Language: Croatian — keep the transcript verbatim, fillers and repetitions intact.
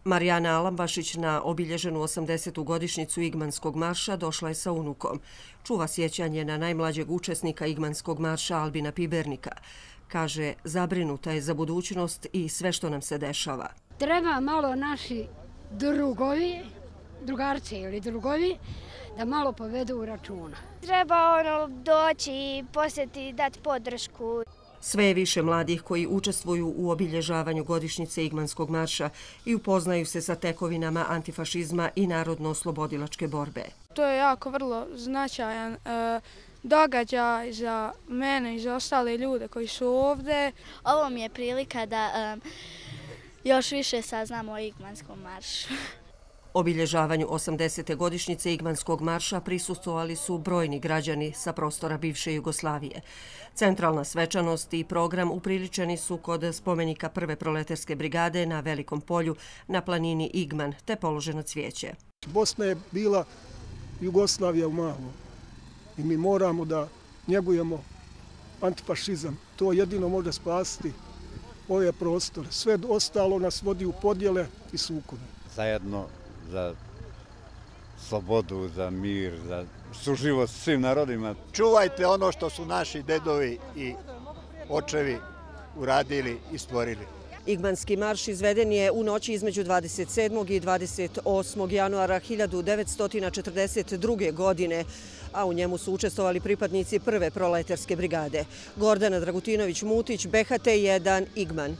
Marijana Alambašić na obilježenu osamdesetu godišnjicu Igmanskog marša došla je sa unukom. Čuva sjećanje na najmlađeg učesnika Igmanskog marša Albina Pibernika. Kaže, zabrinuta je za budućnost i sve što nam se dešava. Treba malo naši drugovi, drugarci ili drugovi, da malo povedu računa. Treba ono doći i posjeti, dati podršku. Sve je više mladih koji učestvuju u obilježavanju godišnjice Igmanskog marša i upoznaju se sa tekovinama antifašizma i narodno-oslobodilačke borbe. To je jako vrlo značajan e, događaj za mene i za ostale ljude koji su ovdje. Ovo mi je prilika da e, još više saznamo o Igmanskom maršu. Obilježavanju osamdesete godišnjice Igmanskog marša prisustvovali su brojni građani sa prostora bivše Jugoslavije. Centralna svečanost i program upriličeni su kod spomenika prve proletarske brigade na Velikom polju na planini Igman, te položeno cvijeće. Bosna je bila Jugoslavija u malom i mi moramo da njegujemo antifašizam. To jedino može spasiti ove prostore. Sve ostalo nas vodi u podjele i sukobe. Zajedno za slobodu, za mir, za suživot s svim narodima. Čuvajte ono što su naši dedovi i očevi uradili i stvorili. Igmanski marš izveden je u noći između dvadeset sedmog i dvadeset osmog januara hiljadu devetsto četrdeset druge. godine, a u njemu su učestvovali pripadnici prve proletarske brigade. Gordana Dragutinović-Mutić, B H T jedan, Igman.